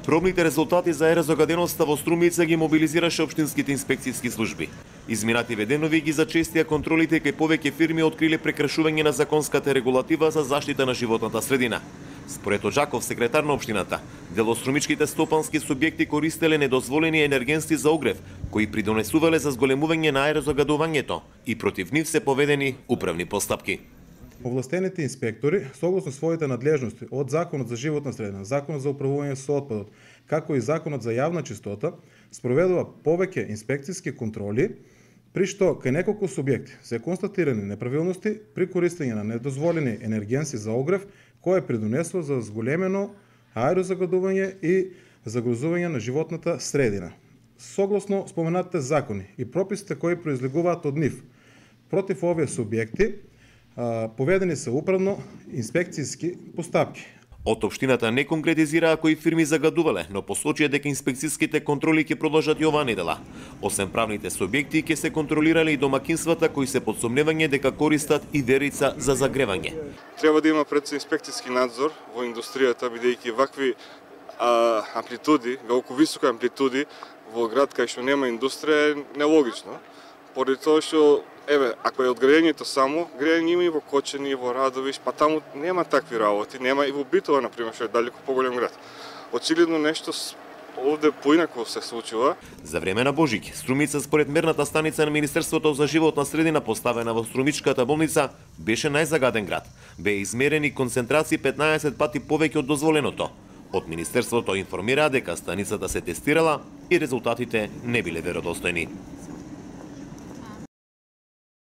Пробните резултати за аерозагаденоста во Струмица ги мобилизираше општинските инспекцијски служби. Изминативе денови ги зачестија контролите кај повеќе фирми откриле прекршување на законската регулатива за заштита на животната средина. Според Оджаков, секретар на општината, дел од струмичките стопански субјекти користеле недозволени енергенски за огрев, кои придонесувале за зголемување на аерозагадувањето и против нив се поведени управни постапки. Овластените инспектори, согласно своите надлежности од Законот за животна средина, Законот за управување со отпадот, како и Законот за јавна чистота, спроведува повеќе инспекцијски контроли, при што кај неколку субјекти се констатирани неправилности при користење на недозволени енергенси за огрев, кое придонесло за зголемено аерозагадување и загрозување на животната средина. Согласно споменатите закони и прописите кои произлегуваат од нив, против овие субјекти поведени се управно инспекцијски постапки. Од општината не конкретизираа кои фирми загадувале, но посочија дека инспекцијските контроли ќе продолжат и оваа недела. Освен правните субјекти, ќе се контролирале и домакинствата кои се под сомневање дека користат и верица за загревање. Треба да има пред инспекцијски надзор во индустријата, бидејќи вакви амплитуди, велико високи амплитуди во град кај што нема индустрија е нелогично. Поради тоа што ако е од грејењето само, грејење има и во Кочани, и во Радовиш, па таму нема такви работи, нема и во Битола, например, што е далеку поголем град. Очигледно нешто овде поинако се случува. За време на Божик, Струмица според мерната станица на Министерството за животна средина поставена во Струмичката болница беше најзагаден град. Беа измерени концентрации 15 пати повеќе од дозволеното. Од Министерството информира дека станицата се тестирала и резултатите не биле веродостојни.